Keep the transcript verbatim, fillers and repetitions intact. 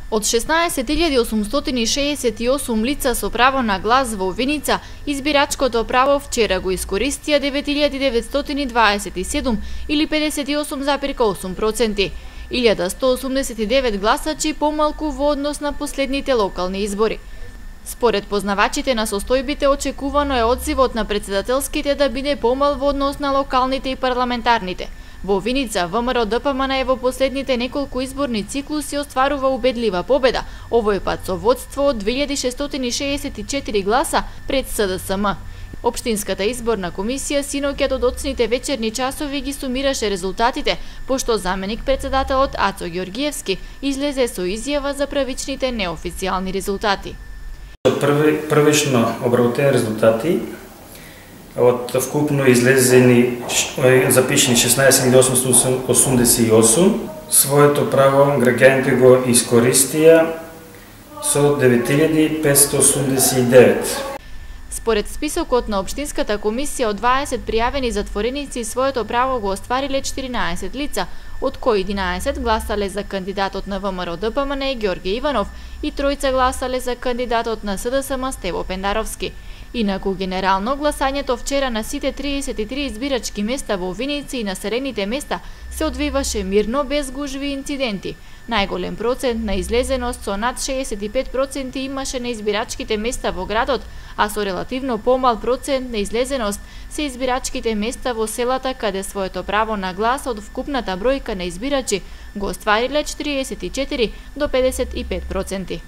Од шеснаесет илјади осумстотини шеесет и осум лица со право на глас во Виница, избирачкото право вчера го искористија девет илјади деветстотини дваесет и седум или педесет и осум зарез осум проценти. илјада сто осумдесет и девет гласачи помалку во однос на последните локални избори. Според познавачите на состојбите, очекувано е одзивот на претседателските да биде помал во однос на локалните и парламентарните. Во Виница, ВМРО-ДПМН во последните неколку изборни циклуси остварува убедлива победа, овој пат со водство од две илјади шестстотини шеесет и четири гласа пред СДСМ. Општинската изборна комисија синоќа до доцните вечерни часови ги сумираше резултатите, пошто заменик председателот Ацо Ѓоргиевски излезе со изјава за правичните неофицијални резултати. Први, првично обработени резултати од вкупно излезени запишени шеснаесет илјади осумстотини осумдесет и осум, своето право граѓаните го искористија со девет илјади петстотини осумдесет и девет. Според списокот на Општинската комисија, од дваесет пријавени затвореници своето право го оствариле четиринаесет лица, од кои единаесет гласале за кандидатот на ВМРО-ДПМН Ѓорѓе Иванов и тројца гласале за кандидатот на СДСМ Стево Пендаровски. Инаку генерално гласањето вчера на сите триесет и три избирачки места во Виница и населените места се одвиваше мирно без гужви и инциденти. Најголем процент на излезеност со над шеесет и пет проценти имаше на избирачките места во градот, а со релативно помал процент на излезеност се избирачките места во селата каде своето право на глас од вкупната бројка на избирачи го оствариле четириесет и четири до педесет и пет проценти.